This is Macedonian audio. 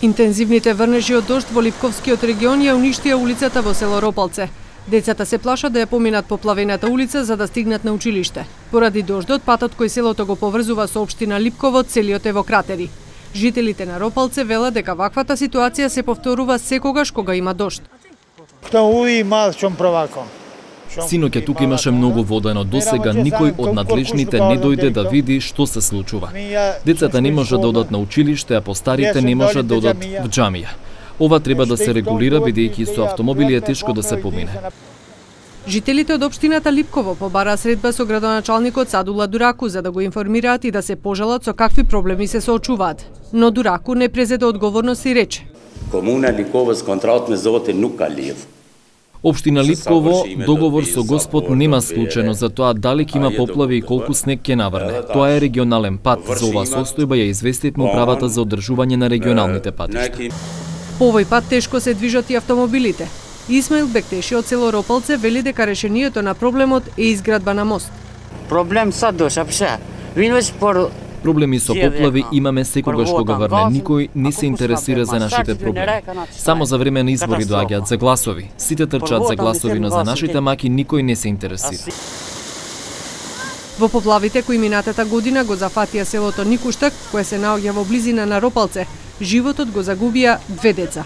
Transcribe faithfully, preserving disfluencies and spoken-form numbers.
Интензивните врнежи од дожд во Липковскиот регион ја уништија улицата во село Ропалце. Децата се плашат да ја поминат поплавената улица за да стигнат на училиште. Поради дождот, патот кој селото го поврзува со општина Липково целиот е во кратери. Жителите на Ропалце велат дека ваквата ситуација се повторува секогаш кога има дожд. Синоќа тука имаше многу вода, но досега никој од надлежните не дојде да види што се случува. Децата не можат да одат на училиште, а постарите не можат да одат в џамија. Ова треба да се регулира, бидејќи со автомобили е тешко да се помине. Жителите од општината Липково побараа средба со градоначалникот Садула Дураку за да го информираат и да се пожалат со какви проблеми се соочуваат. Но Дураку не презеде одговорност и рече: Комуна Липково с контракт ме зовете Нукалиев. Општина Липково договор со Господ нема склучено за тоа дали ќе има поплави и колку снег ќе наврне. Тоа е регионален пат. За оваа состојба ја известивме управата за одржување на регионалните патишта. По овој пат тешко се движат и автомобилите. Исмаил Бектеши од село Ропалце вели дека решението на проблемот е изградба на мост. Проблем сад доша, пша. Винвеч пор Проблеми со поплави имаме секогаш кога врне. Никој не се интересира за нашите проблеми. Само за време на избори доаѓаат за гласови. Сите трчаат за гласови, но за нашите маки никој не се интересира. Во поплавите кои минатата година го зафатија селото Никуштак, кое се наоѓа во близина на Ропалце, животот го загубија две деца.